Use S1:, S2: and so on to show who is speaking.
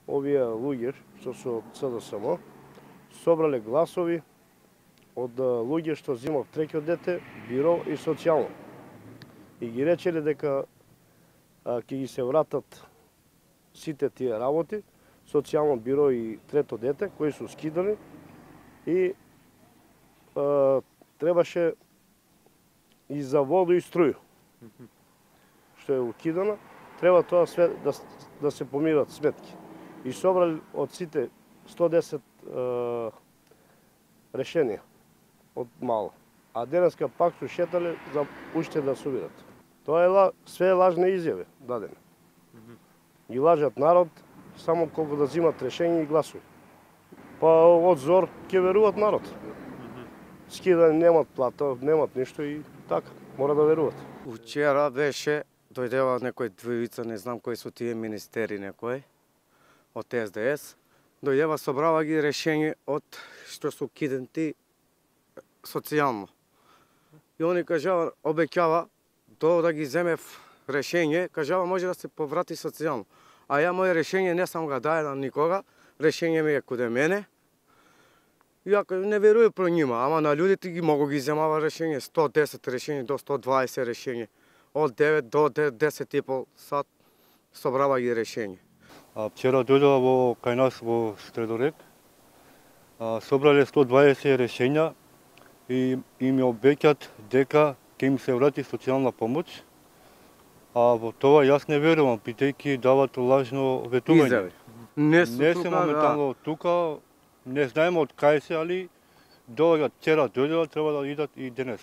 S1: овие луѓе што се од СДСМ собрале гласови од луѓе што земав треќо дете, биро и социјално. И ги речеле дека ќе ги се вратат сите тие работи, социјално биро и трето дете, кои се скидани и требаше и за воду и струја, што е укидано, треба тоа све да се помират сметки. И собрали од сите 110 решенија од мало. А денеска пак се шетале за уште да собират. Тоа е све лажни изјави дадени. Ги лажат народ само колку да земат решение и гласови. Па од зор ќе веруват народ. Скидани немат плата, немат ништо и така, мора да веруват.
S2: Вчера беше, дојдева некој двојица, не знам кои се тие министери некој, од СДС, дојдева собрава ги решение од што се укиденти социјално. И они кажава, обеќава, да ги земе решение, кажава може да се поврати социјално. А ја моје решение не сам го дај на никога, решение ми е каде мене. Ја не верувам про нима, ама на луѓето ги могу ги земава решение, 110 решение до 120 решение. Од 9 до 10,5 сат собрава ги решение.
S3: Вчера дојдова кај нас во Средорек, собрале 120 решенја и им обеќат дека ќе им се врати социјална помош. А во тоа јас не верувам, бидејќи дават лажно ветување. Не се моментално тука, не знаеме од кај се, али доаѓаат, вчера дојдоа, треба да идат и денес.